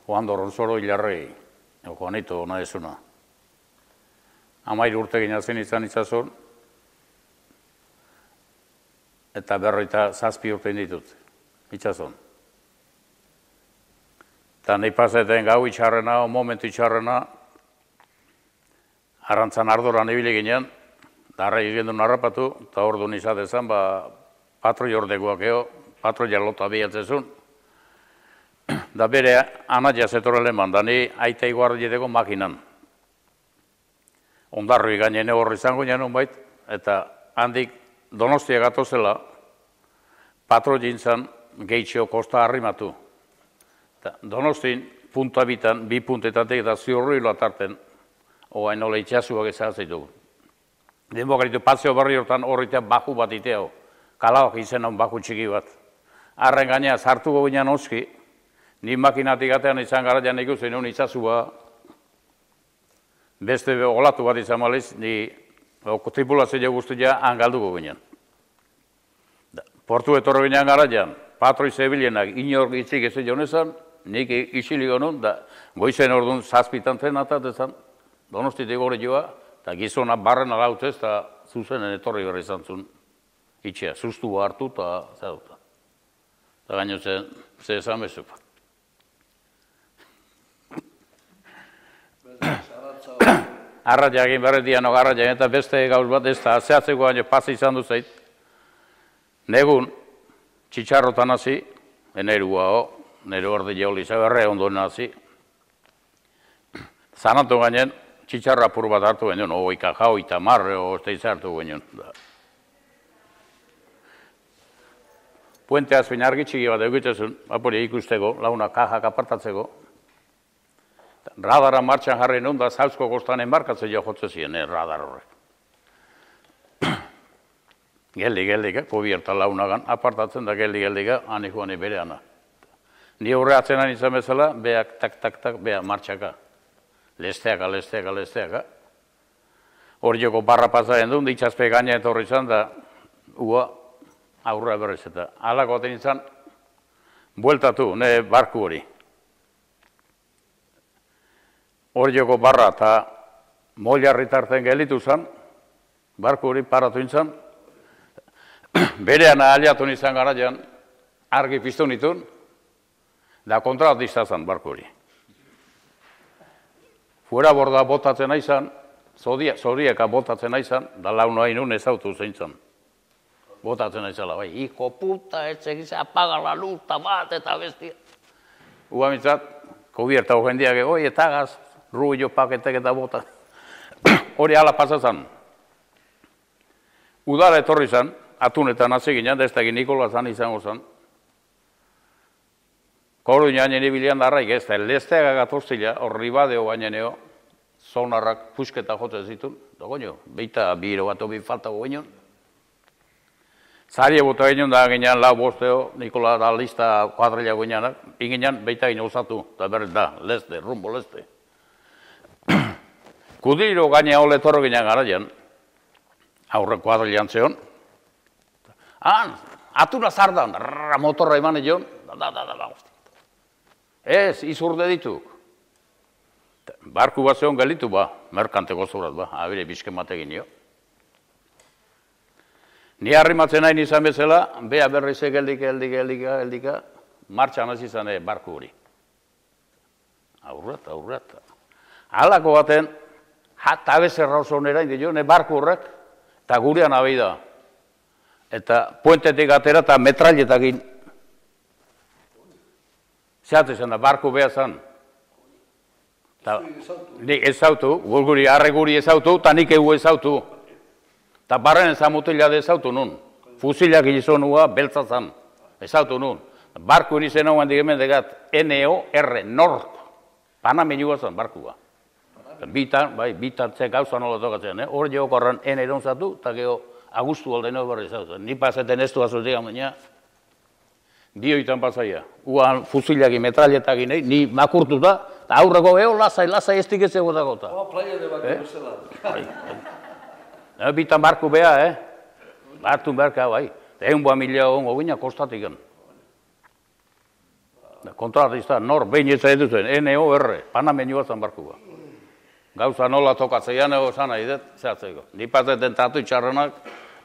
Joan Doronsoro hilarrei, Juanito ona ezuna. 13 urte ginatzen izan itsason, eta 57 urte ditut, itsason. Eta nahi paseten gau itxarrena, momentu itxarrena, arrantzan ardoran ibili ginen, darra egin duen harrapatu, eta hor duen izatezan, patroi ordekoak patroi lota bihatzezun, da bere anaia zetorrele eman, da ni aita iguardieteko makinan. Ondarroi gainen horri izango nien bait, eta handik Donostia gatozela, patroi gintzan gehitxeo kosta harrimatu. Donostin punta bitan, 2 puntetatik eta ziurruilo atarten, oain nola itxasuak ezazitu. Denbokaritu Paseo Barri hortan horretan baku bat iteo, kalabak izenan baku txiki bat. Arren gainea sartuko ginen oski, ni makinatik atean izan garaian ikusten nuen itxasua, beste olatu bat izan maliz, ni tripulazio guztia hangalduko ginen. Portu etorro ginen garaian, patroi zebilenak inor itzik ez jonezan, nik isiliko nun, da goizen orduan 7 zen atatezan, Donostitik gore joa, eta gizona barren alautez, eta zuzenen etorri berri izan zuen itxea, sustu hartu eta zauta. Eta gaino ze esan bezuk. Arratia egin berretian arratia, eta beste gauz bat ez da, zehatzeko baino pasa izan duzait. Negun, txitxarrotan hasi, nero orde jauli zaberre ondoen hasi. Zanatu gainen, txitxarra apur bat hartu ginen, oika jau, eta marre, osteiz hartu ginen. Puente azpin argi txiki bat egitezun, apuri ikusteko, launa kajak apartatzeko. Radara martxan jarri nun, da Zauzko kostan enbarkatzen jo jotze ziren, radar horrek. Geldi, pobierta launagan, apartatzen da geldi, hani joan bereana. Ni horre atzenan izan bezala, beak tak, beak martxaka. Lesteaka. Hor joko barra pasaren duen, ditxazpe gaina etorri izan, da ua aurra berrez eta. Alako aten izan, bueltatu, ne barku hori. Hor joko barra eta moilarri tarten gelitu zen, barku hori paratu izan, berean aliatu izan garaian, argi piztu nitun, da kontratista zen barku hori. Fuera borda botatzen aizan, zorieka botatzen aizan, da launu hainun ezautu zein zen. Botatzen aizala, bai, hijo puta, etxegiz, apaga la luz, bat eta bestia. Ua mitzat, kubierta hojendiak, oi, eta gaz, ruillo paketek eta bota. Hori ala pasazan. Udara etorri zan, atunetan hasi ginen, da ez da Nikola zan izango zan. Koru nien ibilean darraik ez, da lesteaga gatoztila, horri badeo baineneo, zonarrak pusketa jotzen zitun, da goño, beita biro bat obi faltago ginen. Zari bota ginen da ginen lau bosteo, Nikola da lista kuadrilla ginenak, inginen beita ginen osatu, da berrez da, leste, rumbo leste. Kudiro gaine hole torro ginen garaian, aurre kuadrillan zeon. Atuna zardan, motorra eman egion, da. Ez, izurde dituk. Barku bat zeon gelitu merkanteko zurat abire bizken bategin jo. Ni harrimatzen nahi izan bezala, bea berrize geldika, martxan hasi izan barku hori. Aurrat. Halako baten, jata bezerra oso nera indi barku horrek, eta gurean abei da. Eta puentetik atera eta metralletakin. Zehat izan da, barku beha zan. Nik ezautu, arre guri ezautu, eta nik egu ezautu. Eta barren ezamutila de ezautu nun. Fusilak gizonua beltza zan. Ezautu nun. Barku nizen hau handik hemen degat, NOR, North. Panamenua zan, barkua. Bitartzek gauza nola tokatzen, hor jokorran eronzatu, eta geho agustu aldeno berri ezautu. Ni paseten ez du azutik baina, dioitan pasaia. Uan fusilaki metralletakin, ni makurtu da, eta aurreko geho lasai ez diketze gotakota. Playa de Baku bezala. Bitan barku beha, Bartun berka, bai. 100.000 ongo gina kostatiken. kontratista nor behin ez eduten, NOR, panamenioa zan barkua. Gauza nola tokatzeian ego zan nahi dut, zehatzeko. Nipazeten tatu itxarrenak,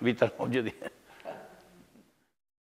bitan hori dira.